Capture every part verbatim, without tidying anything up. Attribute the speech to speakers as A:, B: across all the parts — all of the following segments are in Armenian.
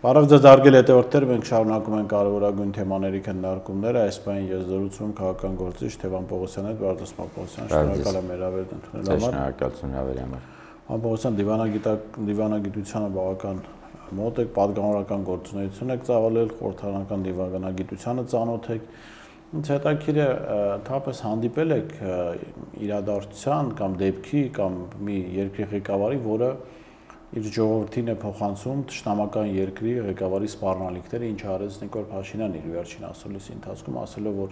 A: Բարև ձեզ հարգելի հետևորդներ, մենք շարունակում ենք կարևորագույն թեմաների քննարկումները, այս պահին ես զրուցում քաղաքական գործիչ Թևան Պողոսյանի հետ, Վարդուս Պողոսյան, շնորհակալ եմ հրավերն ընդունելու համար։
B: Շնորհակալություն հրավերի համար։
A: Պարոն Պողոսյան, դիվանագիտությանը բավական մոտ եք, պատգամավորական գործունեություն եք ծավալել, խորհրդարանական դիվանագիտությանը ծանոթ եք։ Ինձ հետաքրքիր է, թափես հանդիպել եք իրադարձության կամ դեպքի կամ մի երկրի ղեկավարի, որը իր ժողովրդին է փոխանցում թշնամական երկրի ղեկավարի սպառնալիքները, ինչ արեց Նիկոլ Փաշինյանն իր վերջին ասուլիսի ընթացքում, ասելով, որ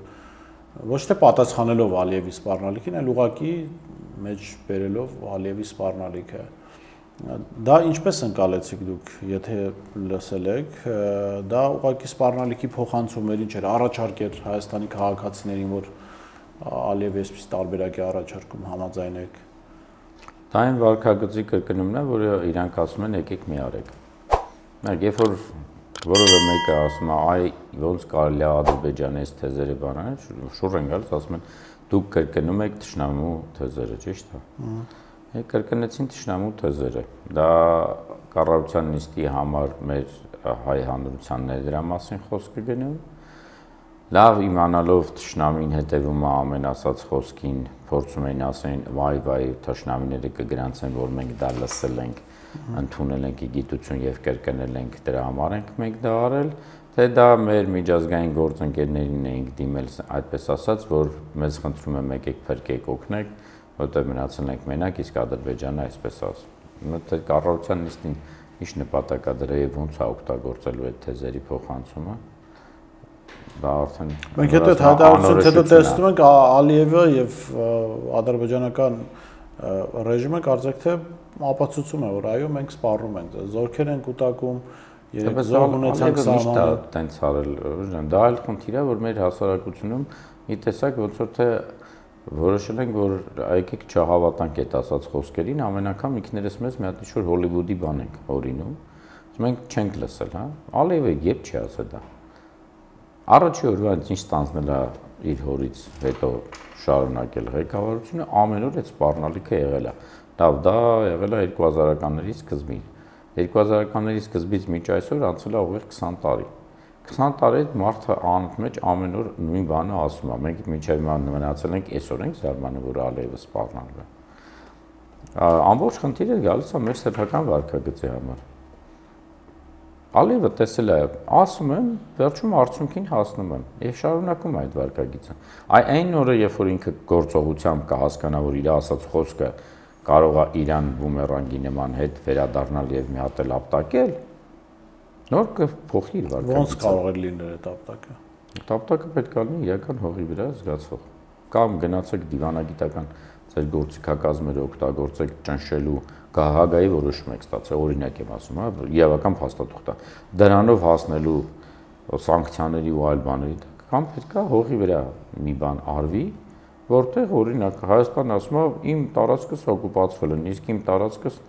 A: ոչ թե պատասխանելով Ալիևի սպառնալիքին, այլ ուղղակի մեջ բերելով Ալիևի սպառնալիքը։ Դա ինչպես ընկալեցիք դուք, եթե լսել եք, դա ուղղակի սպառնալիքի փոխանցում էր, ինչ էր, առաջարկ էր Հայաստանի քաղաքացիներին, որ Ալիևի այսպես տարբերակ է առաջարկում, համաձայն եք։
B: Դա այն վարքագծի կրկնումն է, որը իրանք ասում են եկեք մի արեք։ Երբ որ որևէ մեկը ասում է, այ ոնց կարելի է Ադրբեջանի այս թեզերը բանալ, շուռ են գալիս, ասում են դուք կրկնում եք թշնամու թեզերը, ճիշտ է։ Կրկնեցին թշնամու թեզերը։ Դա կառավարության նիստի համար մեր հայ հանրությանն է դրա մասին խոսքը գնում։ Լավ իմանալով թշնամին հետևում է ամեն ասած խոսքին, փորձում են ասեն վայ վայ թշնամիները կգրանցեն, որ մենք դա լսել ենք, ընդունել ենք գիտություն եւ կրկնել ենք, դրա համար ենք մենք դա արել, թե դա մեր միջազգային գործընկերներին ենք դիմել, այդպես ասած, որ մեզ խնդրում են եկեք փրկեք, օգնեք, որտեղ մնացել ենք մենակ, իսկ Ադրբեջանը այսպես ասում։ Թե կառավարության նիստին ինչ նպատակ է դրա եւ ոնց է օգտագործելու այդ թեզերի փոխանցումը։ Դա արդեն
A: մենք հետո այդ հայտարարությունից հետո տեսնում ենք Ալիևը եւ ադրբեջանական ռեժիմը կարծեք թե ապացուցում է, որ այո մենք սպառում ենք, զորքեր են կուտակում, երեք զորք ունեցանք սահմանը,
B: տենց արել, դա այլ խնդիր է, որ մեր հասարակությունում մի տեսակ ոնց որ թե որոշել ենք, որ եկեք չհավատանք այդ ասած խոսքերին, ամեն անգամ ինքներս մեզ մի հատ ինչ-որ Հոլիվուդի բան ենք օրինում, մենք չենք լսել, հա, Ալիևը երբ չի ասել դա։ Առաջի օրվա ինչ ստանձնել է իր հորից հետո շարունակել ղեկավարությունը, ամեն օր այդ սպառնալիքը եղել է։ Լավ, դա եղել է երկու հազարականների սկզբին։ երկու հազարականների սկզբից մինչ այսօր անցել է ուղիղ քսան տարի։ քսան տարի մարդը անընդմեջ ամեն օր նույն բանը ասում է։ Մենք մինչև հիմա մնացել ենք այսօր ենք զարմանում, որ Ալիևը սպառնալու է։ Ամբողջ խնդիրը գալիս է մեր սեփական վարքագծի համար։ Ալիևը տեսել է, ասում եմ, վերջում արդյունքին հասնում եմ եւ շարունակում այդ վարքագիծը։ Այ այն օրը, երբ որ ինքը գործողությամբ կհասկանա, որ իր ասած խոսքը կարող է իրան բումերանգի նման հետ վերադառնալ եւ մի հատ էլ ապտակել, նոր կփոխի իր վարքագիծը։
A: Ոնց կարող է լինել այդ ապտակը։
B: Այդ ապտակը պետք է լինի իրական հողի վրա զգացվող։ Կամ գնացեք դիվանագիտական ձեր գործիքակազմերը օգտագործեք ճնշելու Գահագայի որոշում եք ստացել, օրինակ եմ ասում, հա, իրավական փաստաթուղթ է։ Դրանով հասնելու սանկցիաների ու այլ բաների, կամ պետք է հողի վրա մի բան արվի, որտեղ օրինակ Հայաստանն ասում է իմ տարածքս օկուպացվել է, իսկ իմ տարածքս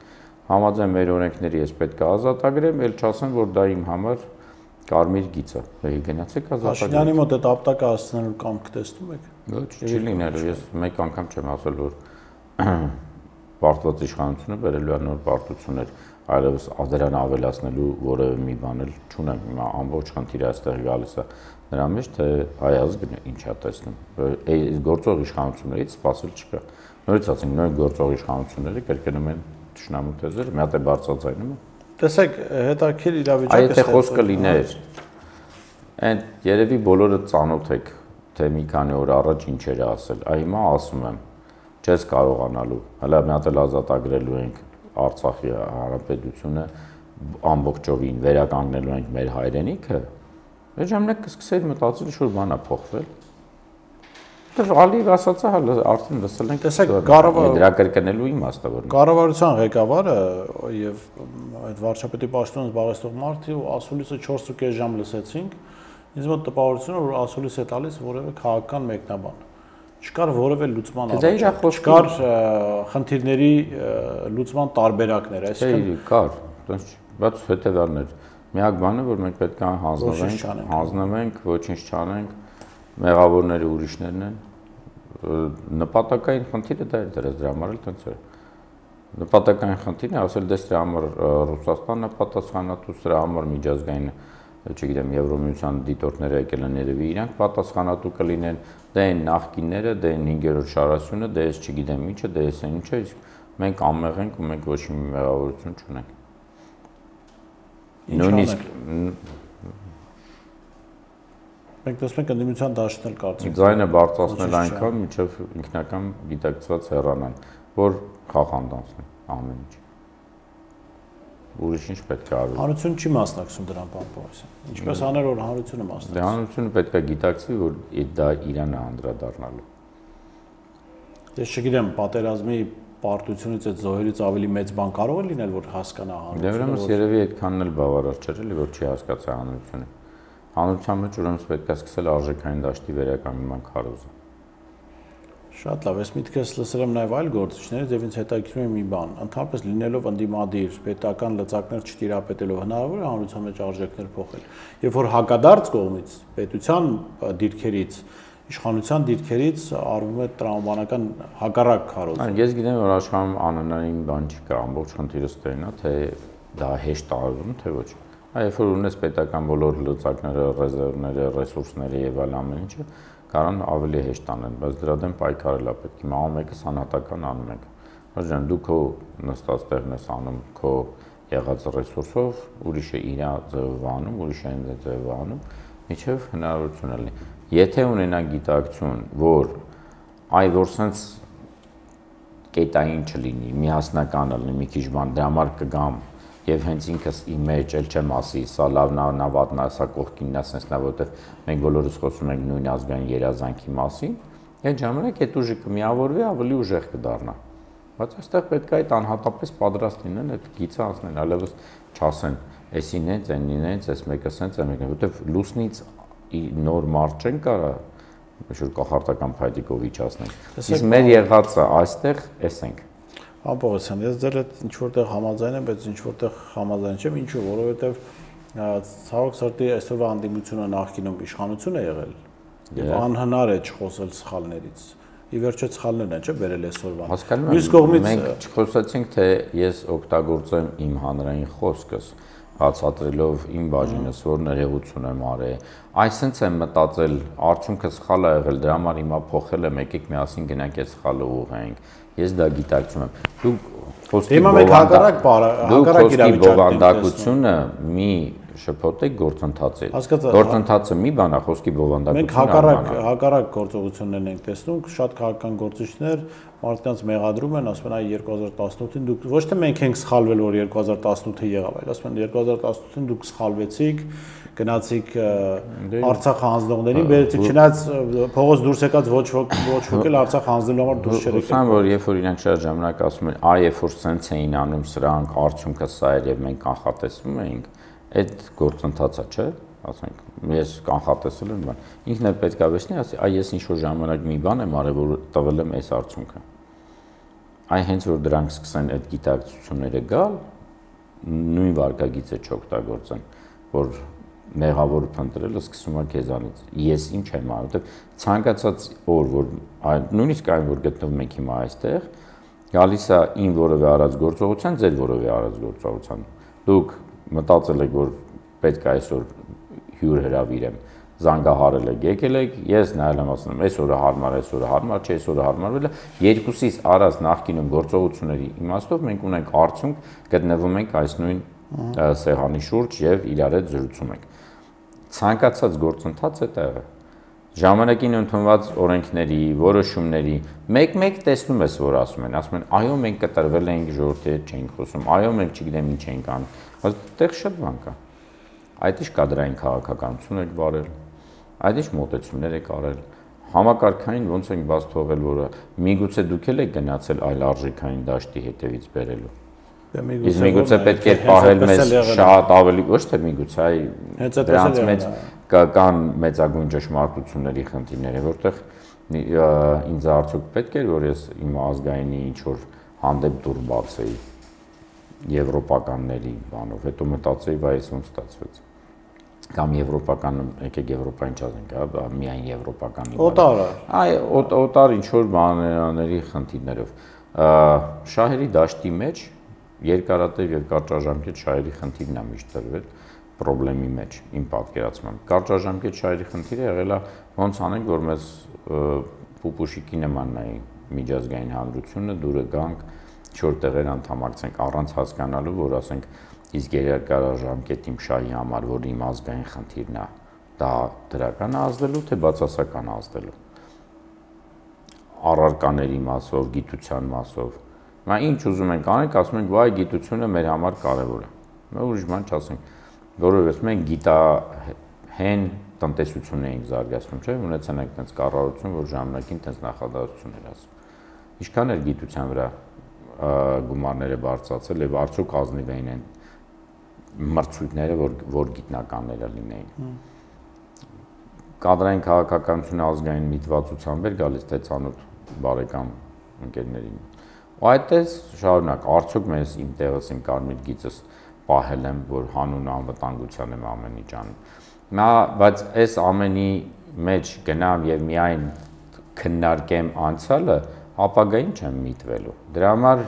B: համաձայն մեր օրենքների ես պետք է ազատագրեմ, ել չասեմ, որ դա իմ համար կարմիր գիծ է։ Եկ գնացեք ազատագրեք։
A: Փաշինյանի մոտ այդ ապտակը հասցնելու կամք տեսնում եք։
B: Ոչ, չի լինելու, ես մեկ անգամ չեմ ասել, որ պարտված իշխանությունը բերելու է նոր պարտություններ, այլևս դրան ավելացնելու որևէ մի բան էլ չունեմ, հիմա ամբողջ խնդիրը այստեղ գալիս է նրա մեջ, թե հայ ազգն ինչ է տեսնում։ Այս գործող իշխանություններից սպասել չկա։ Նորից ասենք, նույն գործող իշխանությունները կրկնում են թշնամու թեզերը, մի հատ է բարձրացնում։
A: Տեսեք, հետաքրքիր իրավիճակը։
B: Այ եթե խոսքը լիներ, այն երևի բոլորը ծանոթ եք, թե մի քանի օր առաջ ինչ էր ասել, այ հիմա ասում եմ չես կարողանալու, հələ մի հատ էլ ազատագրելու ենք Արցախի հանրապետությունը ամբողջովին վերականգնելու ենք մեր հայրենիքը, այդ ժամանակ կսկսեի մտածել ինչ-որ բան է փոխվել։ Դեռ Ալիև ասածը արդեն լսել ենք,
A: տեսեք, կառավարության
B: դրա կրկնելու իմաստը որ
A: կառավարության ղեկավարը եւ այդ վարչապետի պաշտոնը զբաղեցնող մարդը ասուլիսը չորս ու կես ժամ լսեցինք, ինձ մոտ տպավորություն է, որ ասուլիս է տալիս որևէ քաղաքական մեկնաբան։ Չկար որևէ լուծման
B: առաջարկ,
A: չկար խնդիրների լուծման տարբերակներ,
B: այսինքն կար, բայց հետևյալն էր։ Միակ բանը, որ մենք պետք է հանձնվենք, հանձնվենք, ոչինչ չանենք, մեղավորները ուրիշներն են, նպատակային խնդիրը դա էր դրած, դրա համար էլ տենց էր։ Նպատակային խնդիրն է, ասել դες դրա համար Ռուսաստանն է պատասխանատու, սրա համար միջազգային, չգիտեմ, Եվրոմիության դիտորդները եկել են երևի իրանք պատասխանատու կլինեն, դե այն նախկինները, դե այն հինգերորդ շարասյունը, դե ես չգիտեմ ինչը, դե ես այն ինչը, իսկ մենք անմեղ ենք ու մենք ոչ մի մեղավորություն չունենք։ Նույնիսկ
A: մենք տեսնում ենք ընդդիմության դաշտն էլ կարծես
B: ձայնը բարձրացնել այնքան, մինչև ինքնական գիտակցված հեռանան, որ խախանձանցնի ամեն ինչ։ Ուրիշ ինչ պետք է արվի։
A: Հանրությունը չի մասնակցում դրան, պարոն Պողոսյան։ Ինչպես աներ, որ հանրությունը մասնակցի։
B: Դե հանրությունը պետք է գիտակցի, որ դա իրան է անդրադառնալու։
A: Ես չգիտեմ, պատերազմի պարտությունից այդ զոհերից ավելի մեծ բան կարող է լինել, որ հասկանա հանրությունը։
B: Դե ուրեմն երևի այդքանն էլ բավարար չէ, էլի որ չի հասկացա հանրությունը։ Հանրության մեջ ուրեմն պետք է սկսել արժեքային դաշտի վերականգնման քարոզը։
A: Շատ լավ, ես միտքս լսել եմ նաև այլ գործիչներից եւ ինձ հետաքրքրում է մի բան, ընդհանրապես լինելով ընդդիմադիր, պետական լծակներ չտիրապետելով հնարավոր է հանրության մեջ արժեքներ փոխել։ Երբ որ հակադարձ կողմից, պետության դիրքերից, իշխանության դիրքերից արվում է տրամաբանական հակառակ քարոզ։
B: Ես գիտեմ, որ աշխարհում անանային բան չկա, ամբողջ խնդիրը ստերն է, թե դա հեշտ արվում, թե ոչ։ Այ երբ որ ունես պետական բոլոր լծակները, ռեզերվները, ռեսուրսները եւ այլ ամեն ինչը, կարան ավելի հեշտ անեն, բայց դրա դեմ պայքարել է պետք։ Հիմա ամեն մեկը սանատական անում եք։ Աշեն դու քո նստած տեղն ես անում, քո եղած ռեսուրսով, ուրիշը իր ձևով անում, ուրիշը այն ձևով անում, միջև հնարավորություն լինի։ Եթե ունենա գիտակցություն, որ այ որ sense կետային չլինի, միասնական լինի, մի քիչ բան, դրա համար կգամ եւ հենց ինքս իմ մեջ էլ չեմ ասի, սա լավն է, նա վատն է, սա կողքինն է, sense նա որովհետեւ մենք բոլորս խոսում ենք նույն ազգային երազանքի մասին, այդ ժամանակ այդ ուժը կմիավորվի, ավելի ուժեղ կդառնա։ Բայց այստեղ պետք է այդ անհատապես պատրաստ լինեն, այդ գիծը անցնել, այլևս չասեն, էսին է, այնին է, այս մեկը sense, այն մեկը, որովհետեւ լուսնից նոր մարդ չեն կարա ինչ-որ կախարդական փայտիկով իջացնենք։ Իսկ մեր եղածը այստեղ էս ենք։
A: Պարոն Պողոսյան, ես ձեր հետ ինչ որտեղ համաձայն եմ, բայց ինչ որտեղ համաձայն չեմ, ինչու, որովհետև ցավոք սրտի այսօրվա անդիմությունը նախկինում իշխանություն է եղել եւ անհնար է չխոսել սխալներից։ Ի վերջո սխալներն են, չէ՞, բերել այսօրվան։
B: Մյուս կողմից մենք չխոսեցինք, թե ես օգտագործեմ իմ հանրային խոսքս, բացատրելով իմ բաժինս, որ ներողություն եմ արել։ Այսինքն եմ մտածել, արդյունքը սխալ է եղել, դրա համար հիմա փոխել եմ, եկեք միասին գնանք այդ սխալը ուղղենք։ Ես դա գիտակցում եմ։ Դու խոսքի բովանդակությունը մի շփոթեք գործընթացի։ Գործընթացը մի բան է, խոսքի բովանդակությունը։
A: Մենք հակառակ հակառակ գործողություններն ենք տեսնում, շատ քաղաքական գործիչներ մարդկանց մեղադրում են, ասում են այ երկու հազար տասնութին դուք ոչ թե մենք ենք սխալվել, որ երկու հազար տասնութը եղավ, այլ ասում են երկու հազար տասնութին դուք սխալվեցիք, գնացիք Արցախ հանձնողներին, բերեցիք, չնայած փողոց դուրս եկած ոչ ոք ոչ ոք էլ Արցախ հանձնելու համար դուրս չեր եկել։
B: Ուսան որ երբ որ իրանք շատ ժամանակ ասում են, այ երբ որ սենց էին անում սրանք, արդյունքը սա էր եւ մենք կանխատեսվում էինք, այդ գործընթացը չէ, ասենք, ես կանխատեսել եմ բան։ Ինքն էլ պետք է վերցնի, ասի, այ ես ինչ որ ժամանակ մի բան եմ արել, որ տվել եմ այս արդյունքը։ Այ հենց որ դրանք սկսեն այդ գիտակցությունները գալ, նույն վարկագիծը չօգտագործեն, որ մեղավոր փնտրելը սկսում է քեզանից։ Ես ինչ եմ արել, որտեղ ցանկացած օր, որ նույնիսկ այն որ գտնվում եք հիմա այստեղ, գալիս է ին որևէ արած գործողության, ձեր որևէ արած գործողության։ Դուք մտածել եք, որ պետք է այսօր հյուր հրավիրեմ, զանգահարել եք, եկել եք, ես նայել եմ ասում եմ, այս օրը հարմար, այս օրը հարմար չէ, այս օրը հարմարվել է, երկուսից արած նախկինում գործողությունների իմաստով մենք ունենք արդյունք, գտնվում ենք այս նույն սեղանի շուրջ եւ իրար հետ զրուցում ենք։ Ցանկացած գործընթաց է տեղը։ Ժամանակին ընդունված օրենքների, որոշումների մեկ-մեկ տեսնում ես, որ ասում են, ասում են, այո, մենք կտրվել ենք ժողովրդի հետ չենք խոսում, այո, մենք չգիտեմ ինչ ենք անում, բայց այդտեղ շատ բան կա։ Այդ ինչ կադրային քաղաքականություն եք վարել, այդ ինչ մոտեցումներ եք արել, համակարգային ոնց ենք բաց թողել, որը միգուցե դուք էլ եք գնացել այլ արժեքային դաշտի հետևից բերելու։ Իսկ միգուցե պետք է պահել մեզ շատ ավելի, ոչ թե միգուցե, այ դրանց մեջ կան մեծագույն ճշմարտությունների խնդիրներ, որտեղ ինձ արդյոք պետք էր, որ ես իմ ազգայինի ինչ-որ հանդեպ դուր բացեի եվրոպականների բանով, հետո մտածեի, վայ, ես ոնց ստացվեց։ Կամ եվրոպականը, եկեք եվրոպային չասենք, հա, միայն եվրոպականի։
A: Օտարը։
B: Այ օտար ինչ-որ բաների խնդիրներով։ Շահերի դաշտի մեջ երկարատև եւ կարճաժամկետ շահերի խնդիրն է միշտ դրվել խնդրի մեջ իմ պատկերացմամբ։ Կարճաժամկետ շահերի խնդիրը եղել է ոնց անենք, որ մեզ պուպուշիկի նման նայի միջազգային հանրությունը դուրը գանք չոր տեղեր անդամակցենք առանց հասկանալու, որ ասենք իսկ երկարաժամկետ իմ շահի համար, որ իմ ազգային խնդիրն է, դա դրական է ազդելու, թե բացասական ազդելու։ Առարկաների մասով, գիտության մասով։ Մա ինչ ուզում ենք անենք, ասում ենք, վայ, գիտությունը մեր համար կարևոր է։ Մենք ուրիշ բան չասենք, որովհետեւ մենք գիտահեն տնտեսություն էինք զարգացնում, չէ՞, ունեցել ենք այնպես կառավարություն, որ ժամանակին այնպես նախադասություն էր ասում։ Ինչքան էր գիտության վրա գումարները բարձրացել եւ արդյոք ազնիվ էին այն մրցույթները, որ որ գիտնականները լինեին։ Կադրային քաղաքականությունը ազգային միտվածությամբ էր գալիս թե ցանոթ բարեկամ ընկերներին։ Ու այդտես շարունակ, արդյոք մեզ իմ տեղս իմ կարմիր գիծս պահել եմ, որ հանուն անվտանգության եմ ամեն ինչ անում։ Նա, բայց այս ամենի մեջ գնամ եւ միայն քննարկեմ անցյալը, ապագային չեմ միտվելու։ Դրա համար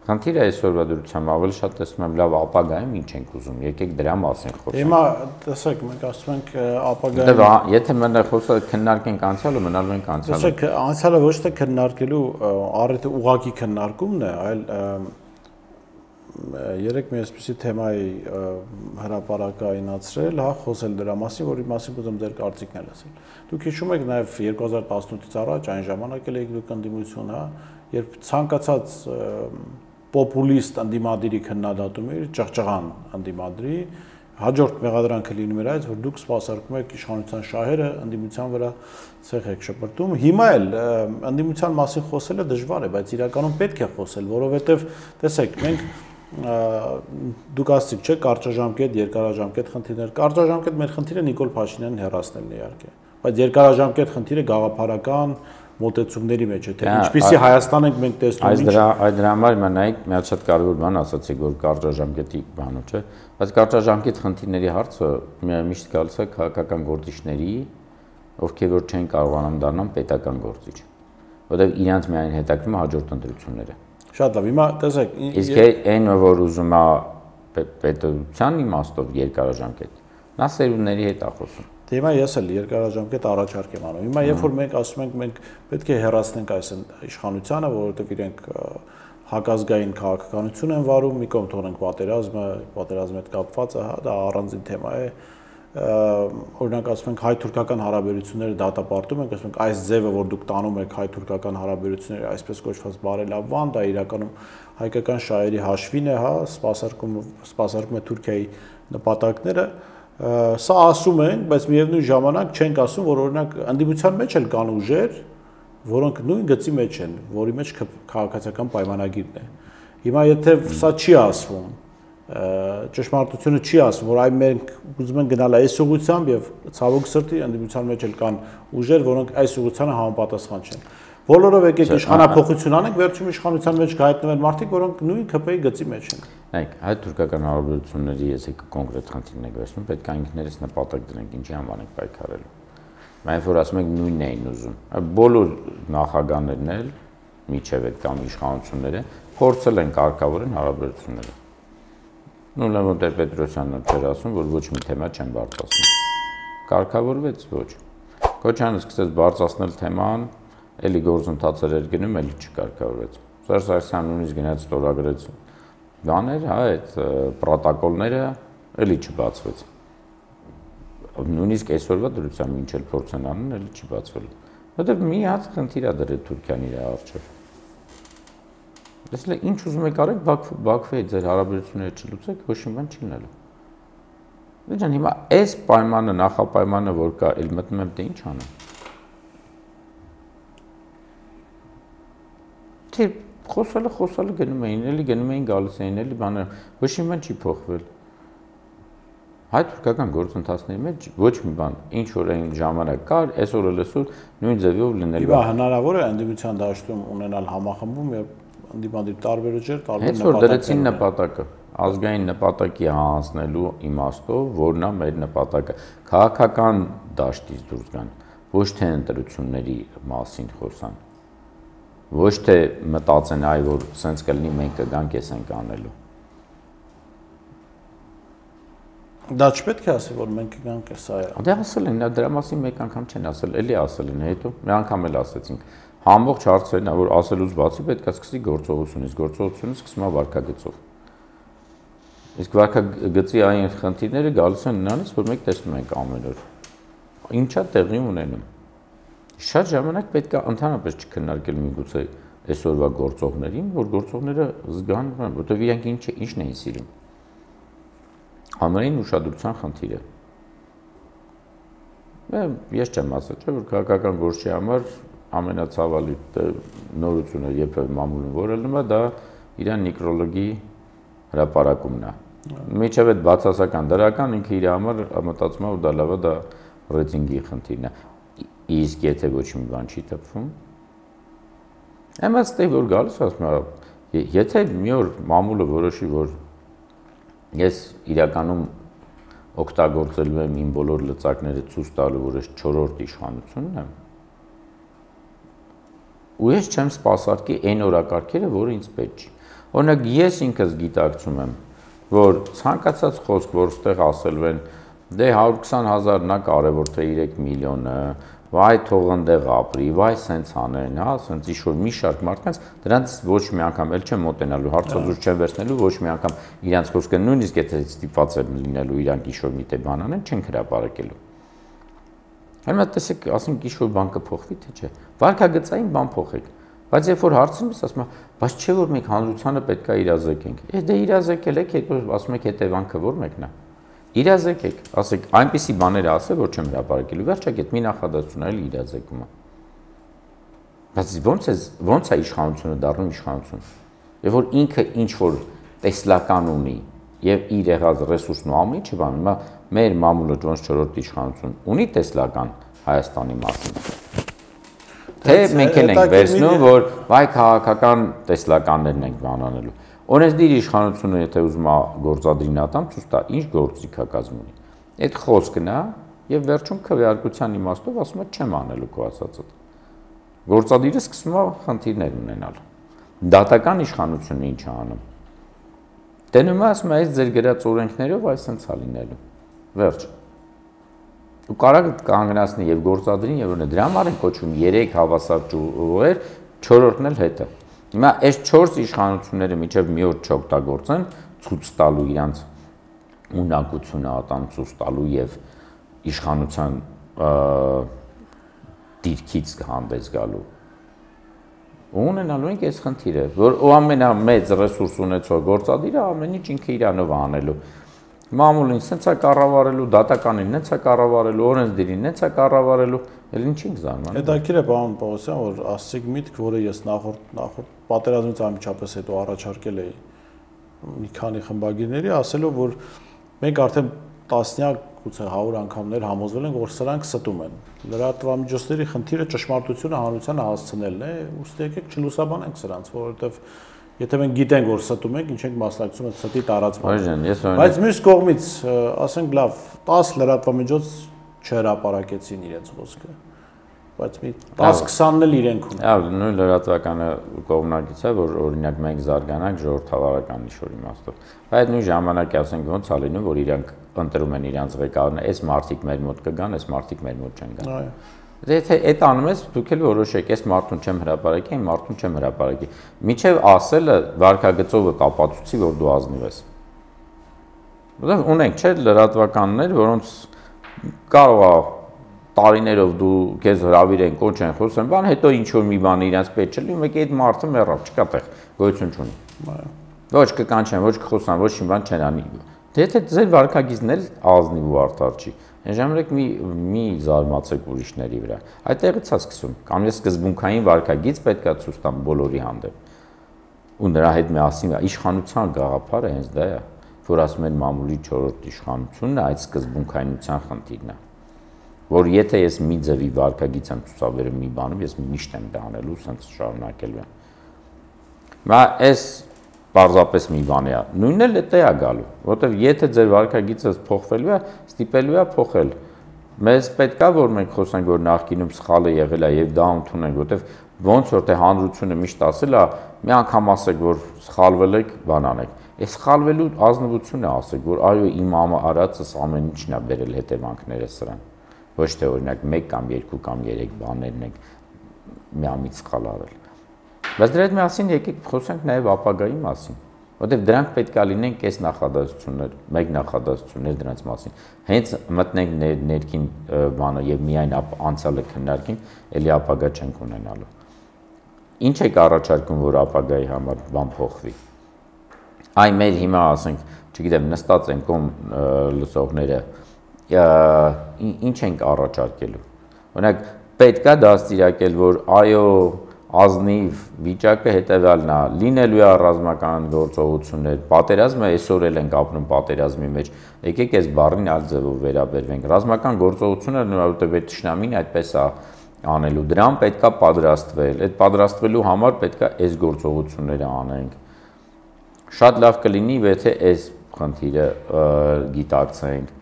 B: խնդիրը այսօրվա դրությամբ ավելի շատ տեսնում եմ լավ ապագայում ինչ ենք ուզում, եկեք դրա մասին խոսենք։
A: Հիմա տեսեք, մենք ասում ենք ապագայում։
B: Եթե մենակ խոսքը քննարկենք անցյալը, մնալու ենք անցյալը։
A: Տեսեք, անցյալը ոչ թե քննարկելու առիթ ուղղակի քննարկումն է, այլ երեք մի այսպիսի թեմայի հրապարակայնացրել, հա, խոսել դրա մասին, որի մասին ուզում ձեր կարծիքն լսել։ Դուք հիշում եք նաև երկու հազար տասնութից առաջ այն ժամանակ էլ եք դուք ընդդիմություն, հա, երբ ցանկացած պոպուլիստ ընդդիմադիրի քննադատում էր, ճղճղան ընդդիմադրի, հաջորդ մեղադրանքը լինում էր այս, որ դուք սպասարկում եք իշխանության շահերը, ընդդիմության վրա ցեղ եք շպրտում։ Հիմա էլ ընդդիմության մասին խոսելը դժվար է, բայց իրականում պետք է խոսել, որովհետև տեսեք, մենք դուք ասացիք, չէ, կարճաժամկետ, երկարաժամկետ խնդիրներ։ Կարճաժամկետ մեր խնդիրը Նիկոլ Փաշինյանին հեռացնելն է իհարկե, բայց երկարաժամկետ խնդիրը գաղափարական մոտեցումների մեջ է, թե ինչպիսի Հայաստան ենք մենք տեսնում։
B: Այս դրա այդ դրա համար հիմա նայեք, մի հատ շատ կարևոր բան ասացիք, որ կարճաժամկետի բանը, չէ, բայց կարճաժամկետ խնդիրների հարցը միշտ գալիս է քաղաքական գործիչների, ովքեր որ չեն կարողանում դառնալ պետական գործիչ, որովհետև իրանց միայն հետաքրքրում է հաջորդ ընտրությունները։
A: Շատ լավ, հիմա տեսեք,
B: իսկ այն որ ուզում է պետության իմաստով երկարաժամկետ, նա սերունդների հետ է խոսում։
A: Հիմա ես էլ երկարաժամկետ առաջարկ եմ անում։ Հիմա երբ որ մենք ասում ենք մենք պետք է հեռացնենք այս իշխանությանը, որովհետև իրենք հակազգային քաղաքականություն են վարում, մի կողմ թողնենք պատերազմը, պատերազմի հետ կապված է, հա, դա առանձին թեմա է։ Օրինակ ասում ենք հայ-թուրքական հարաբերությունները դատապարտում ենք, ասում ենք այս ձևը, որ դուք տանում եք հայ-թուրքական հարաբերությունները, այսպես կոչված բարելավման, դա իրականում հայկական շահերի հաշվին է, հա, սպասարկում սպասարկում է Թուրքիայի նպատակները։ Սա ասում ենք, բայց միևնույն ժամանակ չենք ասում, որ օրինակ ընդդիմության մեջ էլ կան ուժեր, որոնք նույն գծի մեջ են, որի մեջ քաղաքացիական պայմանագիրն է։ Հիմա եթե սա չի ասվում, ճշմարտությունը չի ասում, որ այ մենք ուզում ենք գնալ այս ուղղությամբ եւ ցավոք սրտի ընդդիմության մեջ էլ կան ուժեր, որոնք այս ուղղությանը համապատասխան չեն։ Բոլորով եկեք իշխանափոխություն անենք, վերջում իշխանության մեջ կհայտնվեն մարդիկ, որոնք նույն ՔՊ-ի գծի մեջ են։
B: Նայեք, հայ-թուրքական հարաբերությունների եսեք կոնկրետ խնդիրներ վերցնում, պետք է ինքներս նպատակ դնենք, ինչի համար ենք պայքարելու։ Մենք որ ասում ենք նույնն էին ուզում։ Բոլոր նախագահներն էլ միջև այդ կամ իշխանությունները փորձել են կարգավորեն հարաբերությունները։ Նույն Լևոն Տեր-Պետրոսյանն էր ասում, որ ոչ մի թեմա չեն բարձրացնում։ Կարգավորվեց ոչ։ Քոչյանը սկսեց բարձրացնել թեման, էլի գործընթացեր էր գնում, էլի չկարգավորվեց։ Սերժ Սարգսյանն նույնիսկ գնաց ստորագրեց բաներ, հա, այդ պրոտոկոլները էլի չբացվեց։ Նույնիսկ այսօրվա դրությամբ ինչ էլ փորձ են անում, էլի չի բացվելու։ Որտեվ մի հատ խնդիր է դրել Թուրքիան իր առջև։ Տեսեք, ինչ ուզում եք արեք, Բաքվի հետ ձեր հարաբերությունները չլուծեք, ոչ մի բան չի լինելու։ Դե հիմա այս պայմանը, նախապայմանը, որ կա, էլ մտնում եմ, դե ինչ անեմ։ Թե խոսալը խոսալը գնում էին, էլի գնում էին գալիս էին, էլի բաներ, ոչ մի բան չի փոխվել։ Հայ-թուրքական գործընթացների մեջ ոչ մի բան, ինչ որ այն ժամանակ կար, այսօր էլ այսօր նույն ձևով լինելու է։
A: Իվա հնարավոր է ընդդիմության դաշտում ունենալ համախմբում եւ ընդդիմադիր տարբեր ուժեր, տարբեր
B: նպատակներ։ Հենց որ դրեցին նպատակը, ազգային նպատակի հանձնելու իմաստով, որն է մեր նպատակը, քաղաքական դաշտից դուրս գան, ոչ թե ընտրությունների մասին խոսան։ Ոչ թե մտածեն այ որ սենց կլինի մենք կգանք էս ենք անելու։
A: Դա չպետք է ասի, որ մենք կգանք սա է։
B: Դե ասել են, դրա մասին մեկ անգամ չեն ասել, էլի ասել են, հետո մի անգամ էլ ասեցինք։ Ամբողջ հարցերն է, որ ասելուց բացի պետք է սկսի գործողությունից, գործողությունը սկսում է վարքագծով։ Իսկ վարքագծի այն խնդիրները գալիս են նրանից, որ մենք տեսնում ենք ամեն օր։ Ինչա տեղի ունենում։ Շատ ժամանակ պետք է ընդհանրապես չքննարկել միգուցե այսօրվա գործողներին, որ գործողները զգան, որտեղ իրենք ինչ ինչն էին սիրում։ Համերին ուշադրության խնդիր է։ Ես չեմ ասել, չէ՞ որ քաղաքական գործի համար ամենացավալի նորությունը երբևէ մամուլում որելնում է, դա իրան նիկրոլոգի հրապարակումն է։ Միջև այդ բացասական դրական ինքը իր համար մտածում է, որ դա լավ է, դա ռեյտինգի խնդիրն է։ Իսկ եթե ոչ մի բան չի տպվում, եմը ստեղ որ գալիս ասում է, եթե մի օր մամուլը որոշի, որ ես իրականում օգտագործելու եմ իմ բոլոր լծակները ցույց տալու, որ ես չորրորդ իշխանությունն եմ, ու ես չեմ սպասարկի այն օրակարգերը, որը ինձ պետք չի։ Օրինակ ես ինքս գիտակցում եմ, որ ցանկացած խոսք, որ ստեղ ասելու են, դե հարյուր քսան հազարն է կարևոր թե երեք միլիոնը, վայ թող ընդեղ ապրի, վայ սենց անեն, հա, սենց ինչ-որ մի շարք մարդկանց, դրանց ոչ մի անգամ էլ չեմ մոտենալու, հարցազրույց չեմ վերցնելու, ոչ մի անգամ իրանց խոսքը նույնիսկ եթե ստիպված են լինելու իրանք ինչ-որ մի տեղ բան անեն, չեն հրապարակելու։ Հիմա տեսեք, ասենք ինչ-որ բան կփոխվի, թե չէ։ Վարքագծային բան փոխեք։ Բայց երբ որ հարցնում ես, ասում եմ, բայց չէ որ մենք հանրությանը պետք է իրազեկենք։ Է դե իրազեկել եք, հետո ասում եք հետևանքը որ մեկն է։ Իրազեկեք, ասեք, այնպիսի բաներ ասել, որ չեմ հրապարակելու, վերջակետ մի նախադասություն այլ իրազեկումը։ Բայց ո՞նց է ո՞նց է իշխանությունը դառնում իշխանություն։ Եվ որ ինքը ինչ որ տեսլական ունի եւ իր եղած ռեսուրսն ու ամեն ինչը բան, հիմա մեր մամուլը ոնց չորրորդ իշխանություն ունի տեսլական Հայաստանի մասին։ Թե մենք էլ ենք վերցնում, որ վայ քաղաքական տեսլականներն ենք բանանելու։ Օրենսդիր իշխանությունը, եթե ուզում է գործադրին ատամ, ցույց տա, ինչ գործիք է կազմում ունի։ Այդ խոսքն է եւ վերջում քվեարկության իմաստով ասում է չեմ անելու քո ասածը։ Գործադիրը սկսում է խնդիրներ ունենալ։ Դատական իշխանությունը ինչ է անում։ Տենում է ասում է, այս ձեր գրած օրենքներով այսպես է լինելու։ Վերջ։ Ու կարող կանգնացնի եւ գործադրին եւ դրա համար են կոչվում երեք հավասար ճյուղեր, չորրորդն էլ հետը։ Հիմա այս չորս իշխանությունները միջև մի օր չօգտագործեն ցույց տալու իրանց ունակությունը ատամ ցույց տալու եւ իշխանության դիրքից հանդես գալու։ Ունենալու ենք այս խնդիրը, որ ու ամենամեծ ռեսուրս ունեցող գործադիրը ամեն ինչ ինքը իրանով անելու։ Մամուլին սենց է կառավարելու, դատականին նենց է կառավարելու, օրենսդիրին նենց է կառավարելու, էլ ինչինք զարմանում։
A: Հետաքրքիր է, պարոն Պողոսյան, որ ասցիք միտք, որը ես նախորդ նախորդ պատերազմից անմիջապես հետո առաջարկել էի մի քանի խմբագիրների, ասելով, որ մենք արդեն տասնյակ գուցե հարյուր անգամներ համոզվել ենք, որ սրանք ստում են։ Լրատվամիջոցների խնդիրը ճշմարտությունը հանրությանը հասցնելն է, ուստի եկեք չլուսաբանենք սրանց, որովհետև եթե մենք գիտենք, որ ստում ենք, ինչ ենք մասնակցում այդ ստի տարածմանը։ Բայց մյուս կողմից, ասենք լավ, տասը լրատվամիջոց չհրապարակեցին իրենց խոսքը, բայց մի տասը քսանն էլ իրենք ունեն։
B: Այո, նույն լրատվականը կողմնակից է, որ օրինակ մենք զարգանանք ժողովրդավարական ինչ-որ իմաստով։ Բայց նույն ժամանակ ասենք ոնց է լինում, որ իրանք ընտրում են իրանց ղեկավարները, այս մարդիկ մեր մոտ կգան, այս մարդիկ մեր մոտ չեն գա։
A: Այո։
B: Եթե այդ անում ես, դուք էլ որոշեք, այս մարդուն չեմ հրապարակի, այն մարդուն չեմ հրապարակի։ Միջև ասելը վարքագծովը կապացուցի, որ դու ազնիվ ես։ Որտեղ ունենք, չէ՞, լրատվականներ, որոնց կարող է տարիներով դու քեզ հրավիրեն, կոչեն, խոսեն, բան, հետո ինչ որ մի բան իրենց պետք չէ, մեկ այդ մարդը մեռավ, չկա տեղ, գոյություն չունի։ Ոչ կկանչեն, ոչ կխոսան, ոչ մի բան չեն անի։ Դե եթե ձեր վարքագիծն էլ ազնիվ ու արդար չի, այն ժամանակ մի մի զարմացեք ուրիշների վրա։ Այդտեղից է սկսում։ Կամ ես սկզբունքային վարքագիծ պետք է ցույց տամ բոլորի հանդեպ։ Ու նրա հետ միասին իշխանության գաղափարը հենց դա է, որ ասում են մամուլի չորրորդ իշխանությունն է, այդ սկզբունքայնության խնդիրն է։ Որ եթե ես մի ձևի վարքագիծ եմ ցուցաբերում մի բանում, ես միշտ եմ դա անելու, սենց շարունակելու եմ։ Մա այս պարզապես մի բան է։ Նույնն էլ դա է գալու, որովհետև եթե ձեր վարքագիծը փոխվելու է, ստիպելու է փոխել։ Մեզ պետք է որ մենք խոսենք, որ նախկինում սխալը եղել է եւ դա ընդունենք, որովհետև ոնց որ թե հանրությունը միշտ ասել է, մի անգամ ասեք, որ սխալվել եք, բան անեք։ Այս սխալվելու ազնվությունը ասեք, որ այո, իմ արածս ամեն ինչն է բերել հետևանքները սրան։ Ոչ թե օրինակ մեկ կամ երկու կամ երեք բաներն եք միամիտ սխալ արել։ Բայց դրա հետ միասին եկեք խոսենք նաև ապագայի մասին, որտեղ դրանք պետք է լինեն կես նախադասություններ, մեկ նախադասություններ դրանց մասին։ Հենց մտնենք ներքին բանը եւ միայն անցյալը քննարկենք, ելի ապագա չենք ունենալու։ Ինչ եք առաջարկում, որ ապագայի համար բան փոխվի։ Այ մեր հիմա ասենք, չգիտեմ, նստած են կոմ լսողները, ինչ ենք առաջարկելու։ Օրինակ, պետք է դաստիարակել, որ այո, ազնիվ վիճակը հետևյալն է, լինելու է ռազմական գործողություններ, պատերազմը այսօր էլ ենք ապրում պատերազմի մեջ, եկեք այս բառին այլ ձևով վերաբերվենք։ Ռազմական գործողությունը որովհետև այդ թշնամին այդպես է անելու, դրան պետք է պատրաստվել, այդ պատրաստվելու համար պետք է այս գործողությունները անենք։ Շատ լավ կլինի, եթե այս խնդիրը գիտակցենք,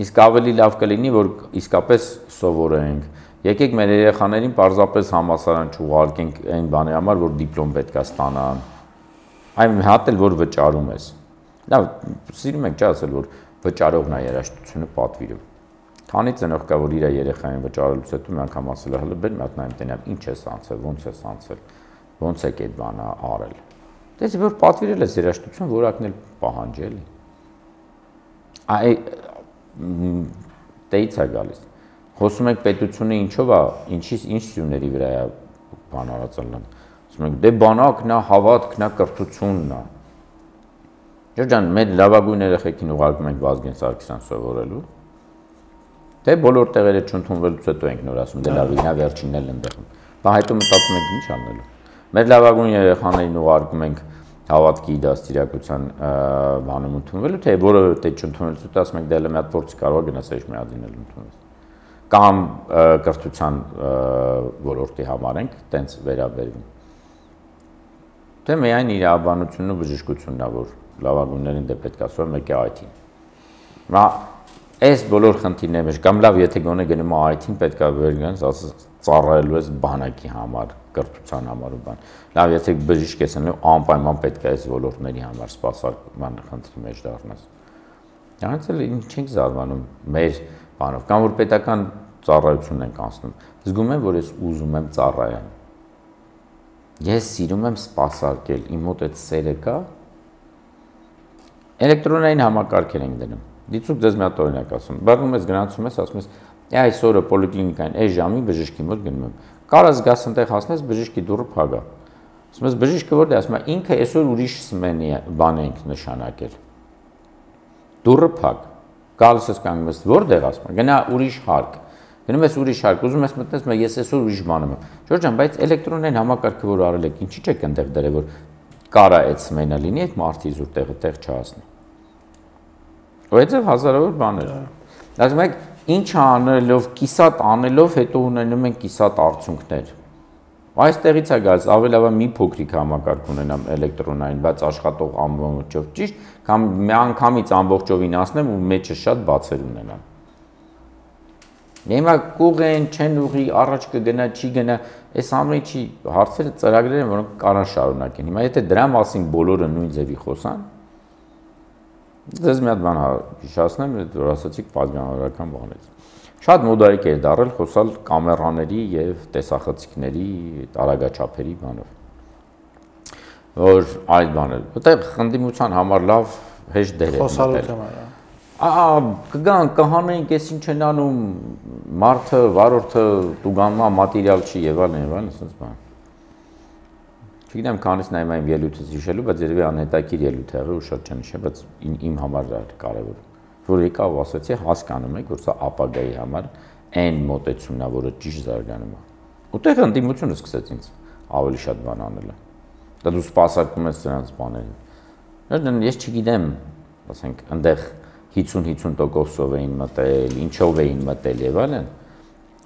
B: իսկ ավելի լավ կլինի, որ իսկապես սովորենք։ Եկեք մեր երեխաներին պարզապես համալսարան չուղարկենք այն բանի համար, որ դիպլոմ պետք է ստանան։ Այն մի հատ էլ որ վճարում ես։ Լավ, սիրում ենք չի ասել, որ վճարողն է երաժշտությունը պատվիրում։ Քանի ծնող կա, որ իր երեխային վճարելուց հետո մի անգամ ասել է, հələ բեր մի հատ նայեմ տենամ, ինչ ես անցել, ոնց ես անցել, ոնց եք այդ բանը արել։ Դες որ պատվիրել ես երաժշտություն, որակն էլ պահանջել է։ Այ դեից է գալիս։ Խոսում ենք պետությունը ինչով է, ինչի ինչ սյուների վրա է բան արածելն։ Ասում ենք դե բանակն է, հավատքն է, կրթությունն է։ Ջան, մեր լավագույն երեխեքին ուղարկում ենք Վազգեն Սարգսյան սովորելու։ Դե բոլոր տեղերը չընդունվելուց հետո ենք նոր ասում, դե լավ ինա վերջինն էլ ընդդեմ։ Բա հետո մտածում ենք ինչ անելու։ Մեր լավագույն երեխաներին ուղարկում ենք հավատքի դաստիարակության բանում ընդունվելու, թե որովհետեւ չընդունելուց հետո ասում ենք դե լավ մի հատ փորձ կարող գնաս այս մի հատին էլ ընդունես։ Կամ կրթության ոլորտի համար ենք տենց վերաբերվում։ Դե միայն իրավաբանությունն ու բժշկությունն է, որ լավագույններին դե պետք է ասում մեկը այ թի։ Հիմա այս բոլոր խնդիրների մեջ կամ լավ, եթե գոնե գնում այ թին պետք է վերգանս, ասես ծառայելու ես բանակի համար, կրթության համար ու բան։ Լավ, եթե բժիշկ ես անում, անպայման պետք է այս ոլորտների համար սպասարկման խնդրի մեջ դառնաս։ Դրանից էլ ինչ ենք զարմանում մեր բանով, կամ որ պետական ծառայությունն ենք անցնում։ Զգում եմ, որ ես ուզում եմ ծառայեմ։ Ես սիրում եմ սպասարկել, իմ մոտ այդ սերը կա։ Էլեկտրոնային համակարգեր ենք դնում։ Դիցուք ձեզ մի հատ օրինակ ասում։ Բռնում ես գնացում ես, ասում ես, այսօրը պոլիկլինիկային այս ժամին բժշկի մոտ գնում եմ։ Կարաս գաս ընտեղ հասնես բժշկի դուռը փագա։ Ասում ես բժիշկը որտե՞ղ, ասում է ինքը այսօր ուրիշ սմենի բան ենք նշանակել։ Դուռը փակ։ Գալիս ես կանգնում ես որտեղ ասում, գնա ուրիշ հարկ։ Գնում ես ուրիշ հարկ, ուզում ես մտնես, մա ես այսօր ուրիշ բանում եմ։ Ժորժան, բայց էլեկտրոնային համակարգը որ արել եք, ինչի՞ չեք այնտեղ դրել, որ կարա այդ սմենը լինի, այդ մարտի զուր տեղը տեղ չհասնի։ Ոյցև հազարավոր բաներ։ Ասում եք, ինչ անելով, կիսատ անելով, հետո ունենում են կիսատ արդյունքներ։ Այստեղից է գալիս, ավելի լավ է մի փոքրիկ համակարգ ունենամ էլեկտրոնային, բայց աշխատող ամբողջով ճիշտ, կամ մի անգամից ամբողջովին ասնեմ ու մեջը շատ բացեր ունենամ։ Հիմա կուղեն, չեն ուղի, առաջ կգնա, չի գնա, այս ամենի չի հարցերը ծրագրեր են, որոնք կարան շարունակեն։ Հիմա եթե դրա մասին բոլորը նույն ձևի խոսան, ձեզ մի հատ բան հիշեցնեմ, որ ասացիք պատգամավորական բանից։ Շատ մոդայիկ էր դարել խոսալ կամերաների եւ տեսախցիկների տարագաչափերի բանով։ Որ այլ բաներ, որտեղ խնդիմության համար լավ հեշտ դեր է։
A: Խոսալու թեմա է։
B: Ահա կգան կհանենք, ես ինչ են անում, մարդը, վարորդը տուգանմա մատերիալ չի եւ այլն եւ այլն, ասես բան։ Չգիտեմ, քանից նայում եմ ելույթս հիշելու, բայց երևի անհետաքրքիր ելույթ է եղել ու շատ չեմ հիշել, բայց իմ համար դա կարևոր։ Որ եկա ու ասացի, հասկանում եք, որ սա ապագայի համար այն մոտեցումն է, որը ճիշտ զարգանում է։ Ուտեղ ընդդիմությունը սկսեց ինձ ավելի շատ բան անել։ Դա դու սպասարկում ես նրանց բաներին։ Ես չգիտեմ, ասենք, այնտեղ հիսուն-հիսուն տոկոսով էին մտել, ինչով էին մտել եւ այլն,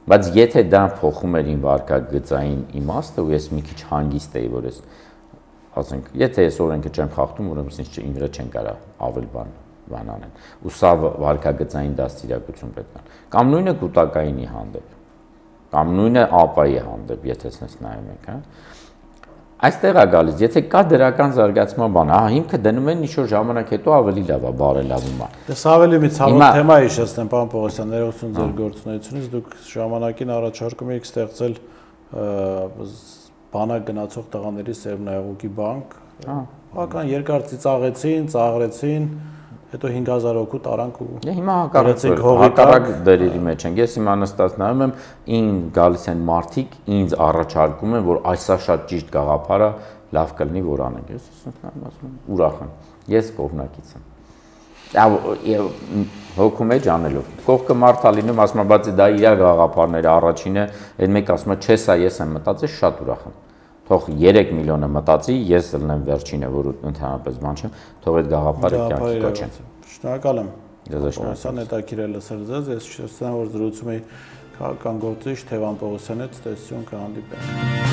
B: բայց եթե դա փոխում էր իմ վարկագծային իմաստը ու ես մի քիչ հանգիստ էի, որ ես ասենք, եթե ես օրենքը չեմ խախտում, ուրեմն ինձ իմ վրա չեն կարա ավել բան բան անեն։ Ու սա վարկագծային դաստիարակություն պետք է։ Կամ նույնը կուտակայինի հանդեպ։ կամ նույնը ԱՊԱ-ի հանդեպ, եթե ցենց նայում եք, հա։ Այստեղ է գալիս, եթե կա դրական զարգացման բան, հա, հիմքը դնում են ինչ-որ ժամանակ հետո ավելի լավ է, բարելավում է։
A: Դες ավելի մի ցավոտ թեմա է հիշեցնեմ, պարոն Պողոսյան, ներողություն ձեր գործունեությունից, դուք ժամանակին առաջարկում եք ստեղծել բանակ գնացող տղաների սերմնայողուկի բանկ, բավական երկար ծիծաղեցին, ծաղրեցին, հետո հինգ հազար հոգու տարանք ու
B: հիմա հակառակ դերերի մեջ ենք։ Ես հիմա նստած նայում եմ, ին գալիս են մարդիկ, ինձ առաջարկում են, որ այսա շատ ճիշտ գաղափար է, լավ կլինի որ անենք։ Ես ասում եմ, ուրախ եմ։ Ես կողմնակից եմ։ Եվ հոգում էջ անելով։ Կողքը մարդ է լինում, ասում է, բայց դա իր գաղափարները առաջինը, այդ մեկ ասում է, չէ, սա ես եմ մտածել, շատ ուրախ եմ։ Թող երեք միլիոնը մտածի, ես ելնեմ վերջինը, որ ընդհանրապես բան չեմ, թող այդ գաղափարը կյանքի կոչեն։
A: Շնորհակալ եմ։
B: Պողոսյան
A: հետաքրքիր է լսել ձեզ, ես շնորհակալ եմ, որ զրուցում էի քաղաքական գործիչ Թևան Պողոսյանի հետ, տեսություն կհանդիպենք։